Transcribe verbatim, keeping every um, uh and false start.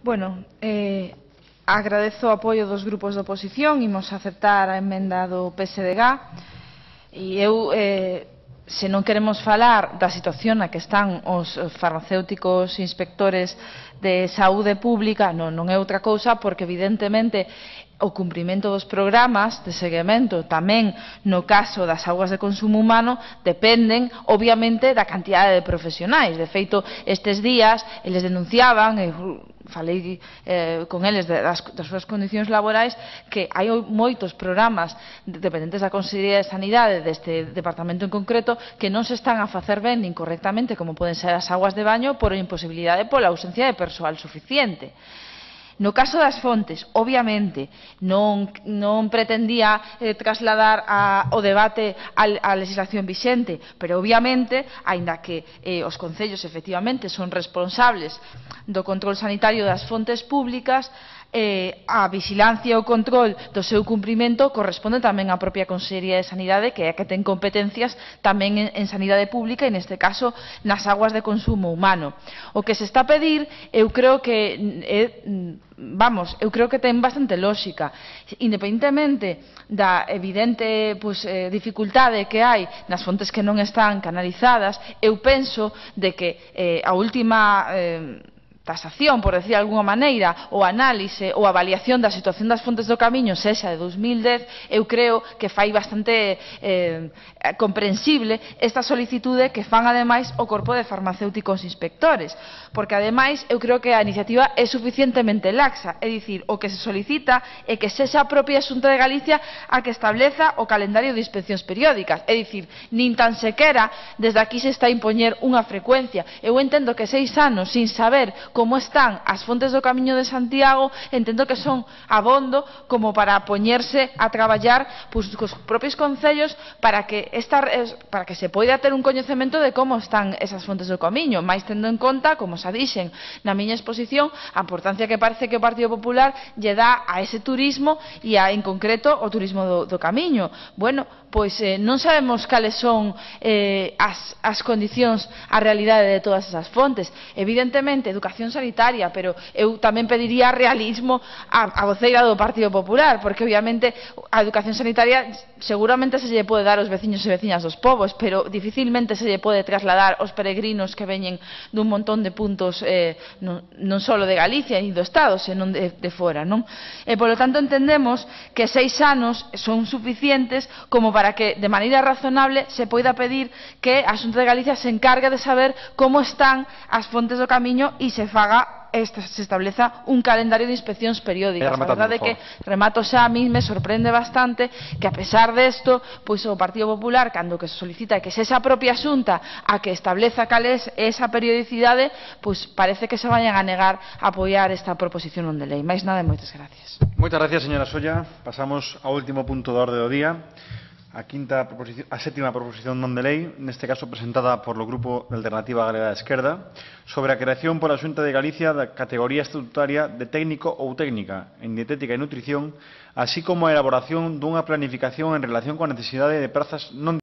Bueno, eh, agradezo o apoio dos grupos de oposición, imos aceptar a emenda do P S D G e eu, eh, se non queremos falar da situación na que están os farmacéuticos inspectores de saúde pública, non, non é outra cousa, porque evidentemente o cumprimento dos programas de seguimento tamén no caso das augas de consumo humano dependen obviamente da cantidade de profesionais. De feito, estes días eles denunciaban, e falei eh, con eles das, das súas condicións laborais, que hai moitos programas dependentes da Consellería de Sanidade deste departamento en concreto que non se están a facer ben nin correctamente, como poden ser as augas de baño, por imposibilidade pola ausencia de persoal suficiente. No caso das fontes, obviamente, non, non pretendía eh, trasladar a, o debate á legislación vixente, pero obviamente, aínda que eh, os concellos efectivamente son responsables do control sanitario das fontes públicas, eh, a vigilancia e o control do seu cumprimento corresponde tamén á propia Consellería de Sanidade, que é a que ten competencias tamén en, en sanidade pública e neste caso nas aguas de consumo humano. O que se está a pedir, eu creo que é, vamos, eu creo que ten bastante lógica, independentemente da evidente pues, eh, dificultade que hai nas fontes que non están canalizadas. Eu penso de que eh, a última eh, tasación, por decir de alguna maneira, o análise ou avaliación da situación das fontes do Camiño, sexa de dos mil dez, eu creo que fai bastante eh, comprensible esta solicitude que fan ademais o corpo de farmacéuticos inspectores, porque ademais eu creo que a iniciativa é suficientemente laxa, é dicir, o que se solicita é que sexa a propia Xunta de Galicia a que estableza o calendario de inspeccións periódicas, é dicir, nin tan sequera desde aquí se está a impoñer unha frecuencia. Eu entendo que seis anos sin saber como están as fontes do Camiño de Santiago, entendo que son abondo como para poñerse a traballar pues, cos propios concellos para que, esta, para que se poida ter un coñecemento de como están esas fontes do Camiño, máis tendo en conta, como xa dixen na miña exposición, a importancia que parece que o Partido Popular lle dá a ese turismo e a, en concreto o turismo do, do Camiño. Bueno, pois eh, non sabemos cales son eh, as, as condicións, a realidade de todas esas fontes. Evidentemente, educación sanitaria, pero eu tamén pediría realismo a, a voceira do Partido Popular, porque obviamente a educación sanitaria seguramente se lle pode dar aos veciños e veciñas dos povos, pero dificilmente se lle pode trasladar aos peregrinos que veñen dun montón de puntos eh, non, non só de Galicia e do Estado, senón de, de fora, non? E, polo tanto, entendemos que seis anos son suficientes como para que, de maneira razonable, se poida pedir que a Xunta de Galicia se encargue de saber como están as fontes do Camiño e se faga se estableza un calendario de inspeccións periódicas. A verdade é que, remato xa, a mí me sorprende bastante que, a pesar desto, pois o Partido Popular, cando que se solicita que se esa propia Xunta a que estableza cal é esa periodicidade, pois parece que se vayan a negar a apoiar esta proposición non de lei. Máis nada e moitas gracias. Moitas gracias, señora Solla. Pasamos ao último punto da orde do día. A, quinta proposición, a sétima proposición non de lei, neste caso presentada por o Grupo de Alternativa Galega de Esquerda, sobre a creación pola Xunta de Galicia da categoría estatutaria de técnico ou técnica en dietética e nutrición, así como a elaboración dunha planificación en relación coa necesidade de prazas non